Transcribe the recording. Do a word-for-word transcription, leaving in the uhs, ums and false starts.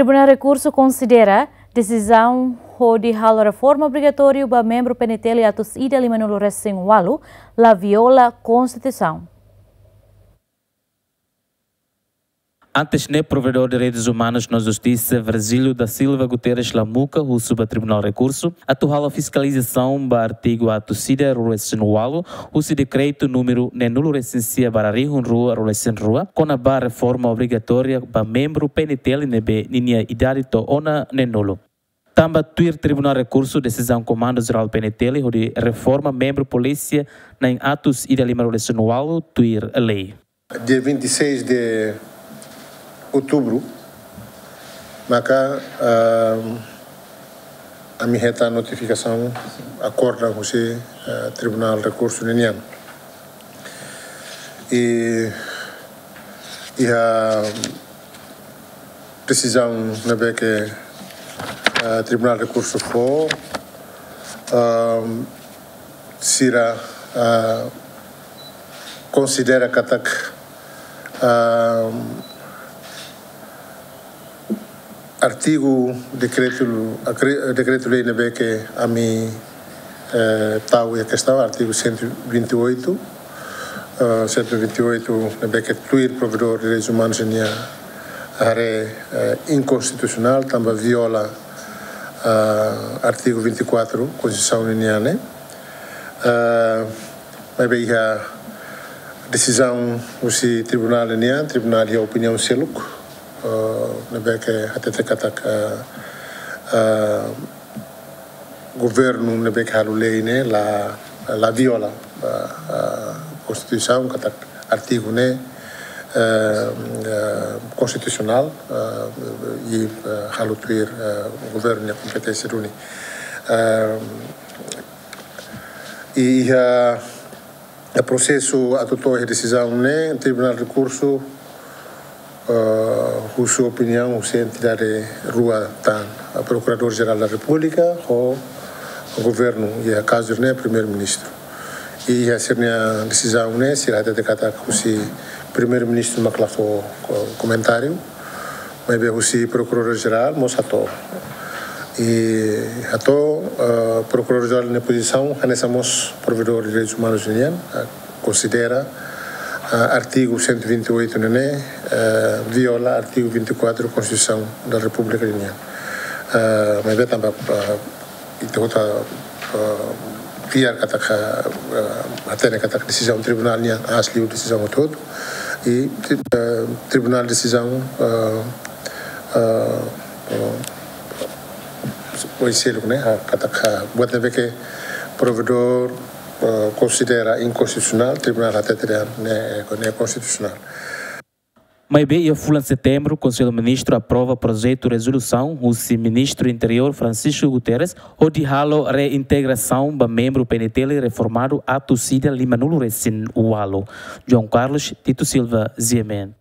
Tribunál Rekursu konsidera desizaun hodi halo reforma obrigatóriu ba membru P N T L atus ida lima-nulu resin ualu la viola Konstituisaun. Antes ne'e, Provedór Direitus Umanus no Justisa, Virgílio da Silva Guterres Lamuca, husu ba Tribunál Rekursu atu halo fiskalizasaun ba artigu atus ida ruanulu resin ualu, husi dekretu númeru neenulu resin sia barra rihun rua ruanulu resin rua, kona-ba reforma obrigatória ba membru P N T L ne'ebé ninia idade to'o ona neenulu. Tanba tuir Tribunál Rekursu desizaun Komandu Jerál P N T L hodi reforma membru polísia na'in atus ida lima-nulu resin ualu tuir lei. Dia vinte e seis de outubro, maka, ah, ami hetan notifikasaun akórdon husi, ah, Tribunál Rekursu ninian. I, iha desizaun ne'ebé ke, ah, Tribunál Rekursu fó, ah, sira, ah, konsidera katak, ah, artigu dekretu, akre-, dekretu-lei ne'ebé ke ami, eh, tau iha kestaun, artigu cento e vinte e oito, eh, cento e vinte e oito ne'ebé ke tuir Provedór Direitus Umanus ninia haree, eh, inkonstitusionál, tanba viola, eh, artigu vinte e quatro Konstituisaun ninian ne'e. Eh, maibé iha desizaun husi tribunál nian, tribunál iha opiniaun seluk, eh, ne'ebé ke hatete katak, eh, eh, governu ne'ebé ke halo lei ne'e la, la viola, eh, eh, Konstituisaun, katak artigu ne'e, eh, eh, konstitusionál, eh, i, eh, halo tuir, eh, governu nia kompeténsia duni. Eh, i iha, eh, prosesu atu to'o iha desizaun ne'e, Tribunál Rekursu, eh, husu opiniaun husi entidade rua tan, eh, Prokuradór Jerál da Repúblika ho governu, iha kazu ne'e Primeiru-Ministru. I iha sira-nia desizaun ne'e, sira hatete katak husi Primeiru-Ministru mak la fó ko-, komentáriu, maibé husi Prokuradór Jerál mós hato'o. I hato'o, eh, Prokuradór Jerál nia pozisaun hanesan mós Provedór Direitus Umanus nian, eh, konsidera, eh, artigu cento e vinte e oito ne'e, eh, viola artigu vinte e quatro Konstituisaun da Repúblika nian. Eh, maibé tanba, eh, ita hotu, eh, fiar katak, eh, hatene katak desizaun tribunál nian aas liu desizaun hotu-hotu. I, eh, tribunál desizaun, eh, eh, eh, oiselu ne'e, ah, katak, ah, buat ne'ebé ke Provedór, eh, konsidera inkonstitusionál, tribunál hatete dehan ne'e, ne'e konstitusionál. Maibé iha fulan Setembru, Konsellu Ministru aprova projetu rezolusaun husi Ministru Interiór Francisco Guterres hodi halo reintegrasaun ba membru P N T L reformadu atus ida lima-nulu resin ualu. João Carlos Tito Silva, G M N.